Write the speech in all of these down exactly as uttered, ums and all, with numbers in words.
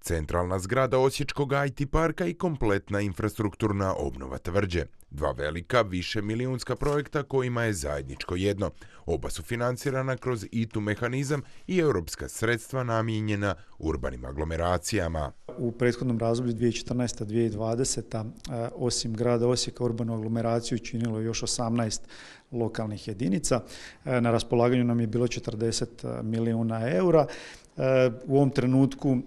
Centralna zgrada Osječkog I T parka i kompletna infrastrukturna obnova tvrđe. Dva velika, višemilijunska projekta kojima je zajedničko jedno. Oba su financirana kroz I T U mehanizam i europska sredstva namijenjena urbanim aglomeracijama. U prethodnom razdoblju dvije tisuće četrnaesta do dvije tisuće dvadeseta osim grada Osijeka urbanu aglomeraciju činilo još osamnaest lokalnih jedinica. Na raspolaganju nam je bilo četrdeset milijuna eura. U ovom trenutku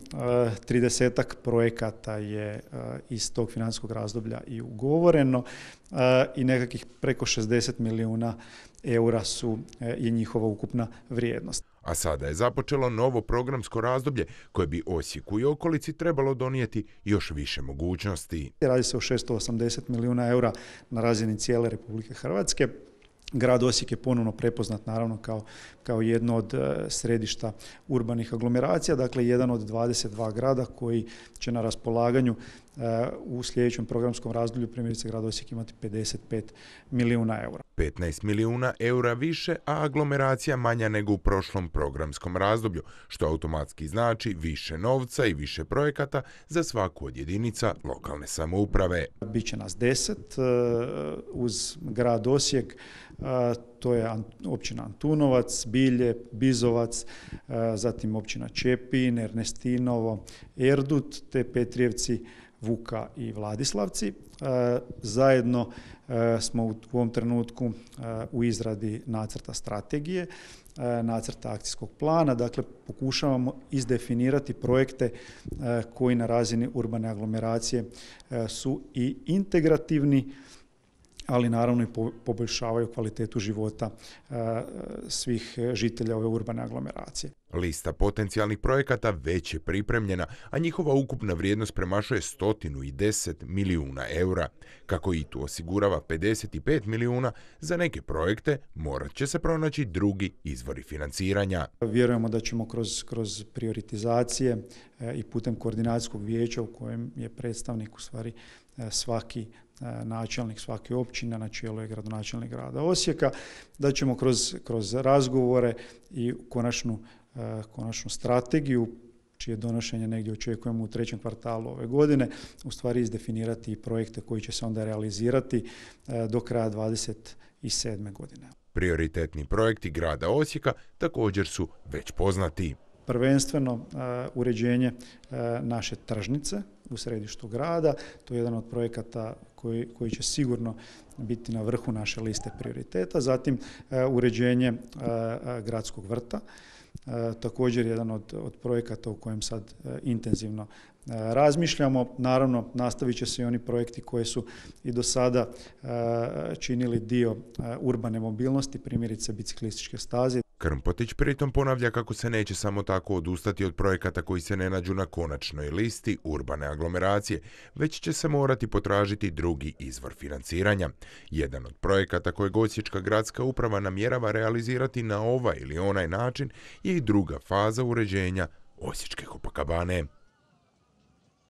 tridesetak projekata je iz tog financijskog razdoblja i ugovoreno i nekakvih preko šezdeset milijuna eura su, je njihova ukupna vrijednost. A sada je započelo novo programsko razdoblje koje bi Osijeku i okolici trebalo donijeti još više mogućnosti. Radi se o šesto osamdeset milijuna eura na razini cijele Republike Hrvatske. Grad Osijek je ponovno prepoznat naravno kao, kao jedno od središta urbanih aglomeracija, dakle jedan od dvadeset dva grada koji će na raspolaganju u sljedećem programskom razdoblju primjerice grad Osijek imati pedeset pet milijuna eura. petnaest milijuna eura više, a aglomeracija manja nego u prošlom programskom razdoblju, što automatski znači više novca i više projekata za svaku od jedinica lokalne samouprave. Biće nas deset uz grad Osijek, to je općina Antunovac, Bilje, Bizovac, zatim općina Čepin, Ernestinovo, Erdut, te Petrijevci, Vuka i Vladislavci. Zajedno smo u ovom trenutku u izradi nacrta strategije, nacrta akcijskog plana, dakle pokušavamo izdefinirati projekte koji na razini urbane aglomeracije su i integrativni, ali naravno i poboljšavaju kvalitetu života svih žitelja ove urbane aglomeracije. Lista potencijalnih projekata već je pripremljena, a njihova ukupna vrijednost premašuje sto deset milijuna eura. Kako I T U osigurava pedeset pet milijuna, za neke projekte morat će se pronaći drugi izvori financiranja. Vjerujemo da ćemo kroz, kroz prioritizacije i putem koordinacijskog vijeća u kojem je predstavnik u stvari svaki načelnik svake općine, na čelu je gradonačelnik grada Osijeka, da ćemo kroz, kroz razgovore i konačnu, konačnu strategiju, čije donošenje negdje očekujemo u trećem kvartalu ove godine, u stvari izdefinirati projekte koji će se onda realizirati do kraja dvadeset sedme godine. Prioritetni projekti grada Osijeka također su već poznati. Prvenstveno uh, uređenje uh, naše tržnice u središtu grada. To je jedan od projekata koji, koji će sigurno biti na vrhu naše liste prioriteta. Zatim uh, uređenje uh, gradskog vrta. Uh, također jedan od, od projekata u kojem sad uh, intenzivno uh, razmišljamo. Naravno, nastavit će se i oni projekti koji su i do sada uh, činili dio uh, urbane mobilnosti, primjerice biciklističke staze. Krmpotić pritom ponavlja kako se neće samo tako odustati od projekata koji se ne nađu na konačnoj listi urbane aglomeracije, već će se morati potražiti drugi izvor financiranja. Jedan od projekata kojeg Osječka gradska uprava namjerava realizirati na ovaj ili onaj način je i druga faza uređenja Osječke Copacabane.